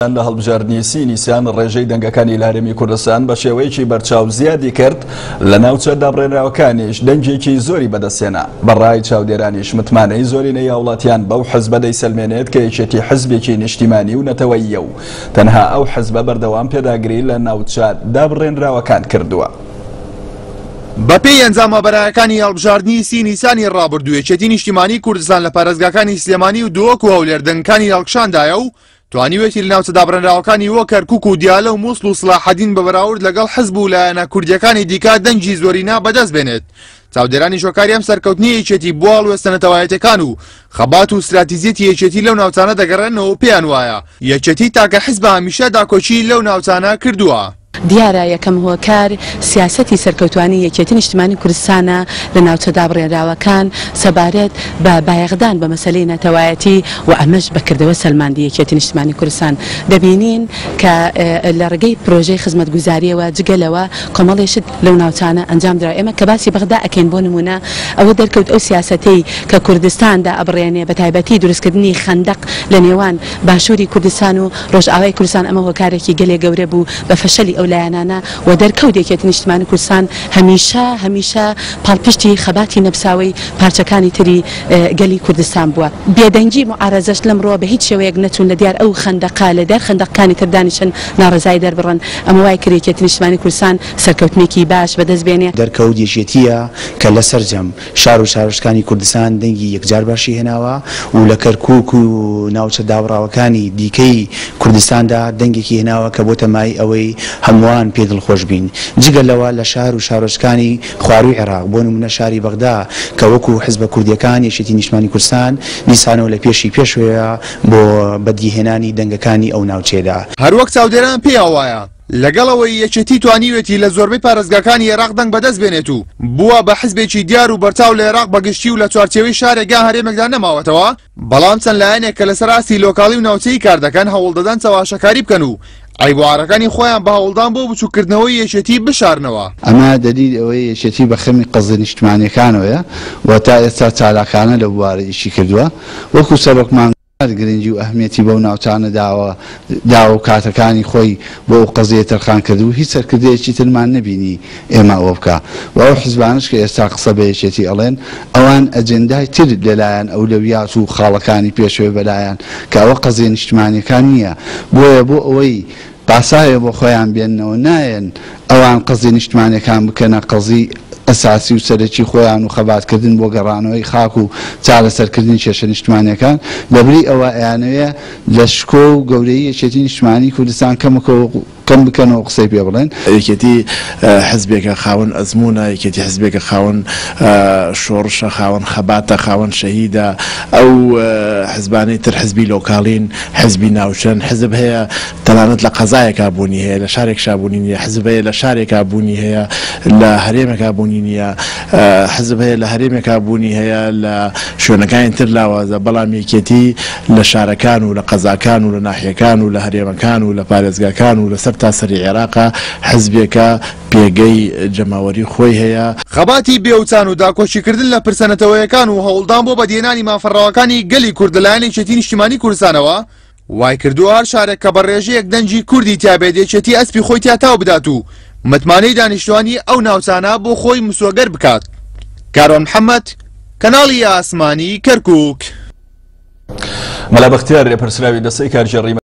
لە هەڵبژاردنی سی نیسان ڕێژەی دەنگەکانی لە هەرێمی کوردستان بە شێوەیەکی بەرچاو زیادی کرد، لە ناوچە دابڕێنراوەکانیش دەنگێکی زۆری بەدەستهێنا. بە ڕای چاودێرانیش متمانەی زۆرینەی هاوڵاتیان بەو حزبە دەیسەلمێنێت کە یەکێتی حزبێکی نیشتیمانی و نەتەوەییە و تەنها ئەو حزبە بەردەوام پێداگری لە ناوچە دابڕێنراوەکان کردووە. بەپێی ئەنجامە بەرایەکانی هەڵبژاردنی سی نیسانی ڕابردوو یەکێتی نیشتیمانی کوردستان لە پارێزگاکانی سلێمانی و دهۆک و هەولێر دەنگەکانی هەڵکشاندایە و توانیویەتی لە ناوچە دابڕێنراوەکانی وەک کەرکوک و دیالە و موسڵ و سڵاحەدین بە بەراورد لەگەڵ حزب و لایەنە کوردییەکانی دیکە دەنگی زۆرینە بەدەست بێنێت. چاودێرانی شۆکاری ئەم سەرکەوتنی یەکێتی بۆ هەڵوێستە نەتەوایەتیەکان و خەبات و ستراتیزیەتی یەکێتی لەو ناوچانە دەگەڕێنەوە و پێیان وایە یەکێتی تاکە حزبە هەمیشە داکۆکیی لەو ناوچانە کردووە. دیارە یەکەم هۆکار سیاسەتی سەرکەوتوانی یەکێتی نیشتمانی کوردستانە لە ناوچە دابڕێنراوەکان سەبارەت بە بایەخدان بە مەسەلەی نەتەوایەتی و ئەمەش بە کردەوە سەلماندی یەکێتی نیشتمانی کوردستان دەبینین کە لە ڕێگەی پرۆژەی خزمەتگوزاریەوە جگە لەوە کۆمەڵێ شت لەو ناوچانە ئەنجام درا ئێمە کە باسی بەغدا ئەکەین بۆ نمونە ئەوە دەرکەوت ئەو سیاسەتەی کە کوردستان دائەبڕێنێ بە تایبەتی دروستکردنی خەندەق لە نێوان باشوری کوردستان و ڕۆژئاوای کوردستان ئەمە هۆکارێکی گەلێ گەورە بوو بە فەشەلی ئەو لایەنانە و دەرکەوت یەکێتی نیشتمانی کوردستان هەمیشە هەمیشە پاڵپشتی خەباتی نەپساوەی پارچەکانی تری گەلی کوردستان بووە. بێدەنگی موعارەزەش لەمڕۆوە بە هیچ شێوەیەک نەچوون لە دیار ئەو خەندەقە لە دیار خەندەقەکانی تر دانیشن ناڕەزایی دەربڕن ئەمە وای کرد یەکێتی نیشتمانی کوردستان سەرکەوتنێکی باش بەدەست بێنێ. دەرکەوت یەکێتییە کە لە سەرجەم شار و شارۆچکانی کوردستان دەنگی یەکجار باشی هێناوە و لە کەرکووک و ناوچە دابڕاوەکانی دیکەی کوردستاندا دەنگێکی هێناوە کە بۆتە مایەی ئەوەی هەمووان پێی دڵخۆش بین. جگە لەوە لە شار و شارۆچکانی خوارووی عێراق بۆ نموونە شاری بەغدا کە وەکوو حزبە کوردییەکان یەکێتی نیشتمانی کوردستان دیسانەوە لە پێشی پێشەوەیە بۆ بەدیهێنانی دەنگەکانی ئەو ناوچەیەدا. هەروەک چاودێران پێیان وایە لەگەڵ ئەوەی یەکێتی توانیوێتی لە زۆربەی پارێزگاکانی ئێراق دەنگ بەدەست بێنێت و بووە بە حزبێکی دیار و بەرچاو لە ئێراق بە گشتی و لە چوارچێوەی شارێک یان هەرێمێکدا نەماوەتەوە، بەڵام چەند لایەنێک کە لەسەر ئاستی لۆکاڵی و ناوچەیی کار دەکەن هەوڵدەدەن چەواشەکاری بکەن و عەیب و عارەکانی خۆیان بە هەوڵدان بۆ بچووککردنەوەی یەکێتی بشارنەوە. ئەمە دەلیلی ئەوەیە یەکێتی بە خەمی قەزیە نیشتمانیەکانەوەیە و تا ئێستا چالاکانە لەو بوارە ئیشی کردووە. وەکو سەرۆکمان. گرنگی و ئەهمیەتی بەو ناوچانە داوە داوە و کاتەکانی خۆی بۆ ئەو قەزیەیە تەرخان کردبوو هیچ سەرکردەیەکی ترمان نەبینی ئێمە ئەوە بکا و ئەو حزبانەش کە ئێستا قسە بە یەکێتی ئەڵێن ئەوان ئەجێندای تر لەلایان ئەولەویات و خاڵەکانی پێشەوێ بەلایان کە ئەوە قەزیە نیشتمانیەکان نیە بۆیە بۆ ئەوەی پاساوێ بۆ خۆیان بێننەوە نایەن ئەوان قەزی نیشتمانیەکان بکەنە قەزی ئەساسی و سەرەکی خۆیان و خەباتکردن بۆ گەڕانەوەی خاک و چارەسەرکردنی کێشە نیشتمانیەکان لەبری ئەوە ئەیانەوێ لە شکۆ و گەورەیی یەکێتی نیشتمانی کوردستان کەمکەوە کەم بکەنەوە قسەی پێ بڵێن. یەکێتی حزبێکە خاوەن ئەزموونە، یەکێتی حزبێکە خاوەن شۆڕشە، خاوەن خەباتە، خاوەن شەهیدە، ئەو حزبانەی تر حزبی لۆکاڵین، حزبی ناوچەن، حزب هەیە تەنانەت لە قەزایەکا بوونی هەیە، لە شارێکشا بوونی نییە، حزب هەیە لە شارێکا بوونی هەیە، لە هەرێمێکا بوونی نییە، حزب هەیە لە هەرێمێکا بوونی هەیە، لە شوێنەکانی تر لاوازە، بەڵام یەکێتی لە شارەکان و لە قەزاکان و لە ناحیەکان و لە هەرێمەکان و لە پارێزگاکان و لە سەرتاسەری عێراقا حزبێکە پێگەی جەماوەری خۆی هەیە. خەباتی بێوچان و داکۆکیکردن لە پرسە نەتەوەیەکان و هەوڵدان بۆ بەدیهێنانی مافە ڕەواکانی گەلی کورد لەلایەن یەکێتی نیشتیمانی کوردستانەوە وایکردووە هەر شارێک کە بە ڕێژەیەک دەنگی کوردی تیابێت یەکێتی ئەسپی خۆی تیا تاو بدات و متمانەی دانیشتوانی ئەو ناوچانە بۆ خۆی مسۆگەر بکات. کاروان محەمەد، کەناڵی ئاسمانی کەرکوک. مەلا بەختیار لێپرسراوی دەستەی کارگێڕی.